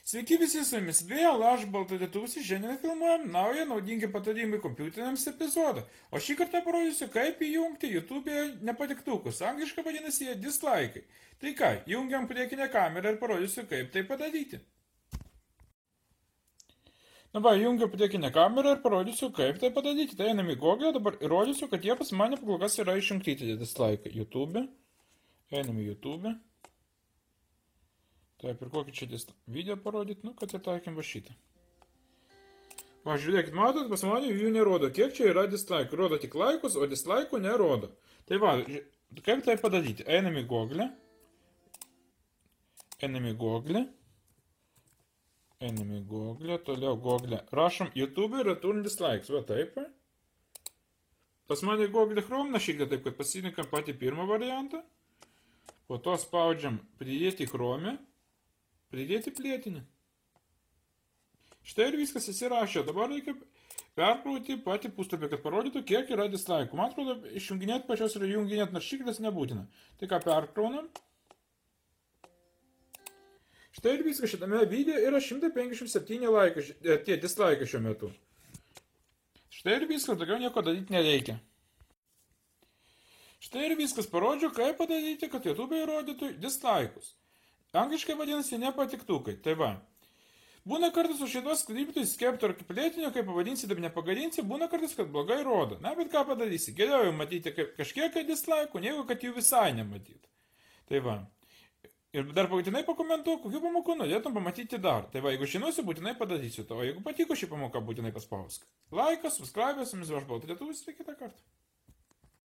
Sveiki visi, su jumis vėl aš, Baltadėtus, šiandien filmuojam naują naudingi patarimai kompiuteriams epizodą. O šį kartą parodysiu, kaip įjungti YouTube'e nepatiktukus, angliškai vadinasi jie dislaikai. Tai ką, jungiam priekinę kamerą ir parodysiu, kaip tai padaryti. Dabar jungiu priekinę kamerą ir parodysiu, kaip tai padaryti. Tai einam į Google, dabar įrodysiu, kad jie pas mane kol kas yra išjungti tie dislaikai. YouTube. Einam į YouTube. Taip, ir kokį čia video parodyti, kad ataikim va šitą. Va, žiūrėkit, matot, pas mane jų nerodo, kiek čia yra dislaikų. Rodo tik laikus, o dislaikų nerodo. Tai va, kaip tai padaryti? Einam į Google. Einam į Google. Einam į Google, toliau Google. Rašom YouTube return dislikes, va taip. Pas mane Google Chrome našykdė taip, kad pasirinkam patį pirmą variantą. Po to spaudžiam pridėti Chrome. Pridėti plėtinį. Štai ir viskas įsirašė. Dabar reikia perkrauti patį puslapį, kad parodytų, kiek yra dislaikų. Man atrodo, išjunginėti pačios ir junginėti naršyklės nebūtina. Tai ką perkraunam. Štai ir viskas. Šitame video yra 157 laikai, tie dislaikai šiuo metu. Štai ir viskas. Daugiau nieko daryti nereikia. Štai ir viskas. Parodžiu, kaip padaryti, kad YouTube įrodytų dislaikus. Angliškai vadinasi nepatiktukai. Tai va. Būna kartais su šitos skriptais skepto ar plėtinio, kaip pavadinsi, taip nepagadinsi, būna kartais, kad blogai rodo. Na, bet ką padarysi? Geriau jau matyti kažkiek dislaikų, negu kad jų visai nematyti. Tai va. Ir dar būtinai pakomentuok, kokių pamokų norėtum pamatyti dar. Tai va, jeigu žinosi, būtinai padarysiu to. O jeigu patiko ši pamoka, būtinai paspausk. Laikas, subscribe, su jumis aš Baltadėtus ir kitą kartą.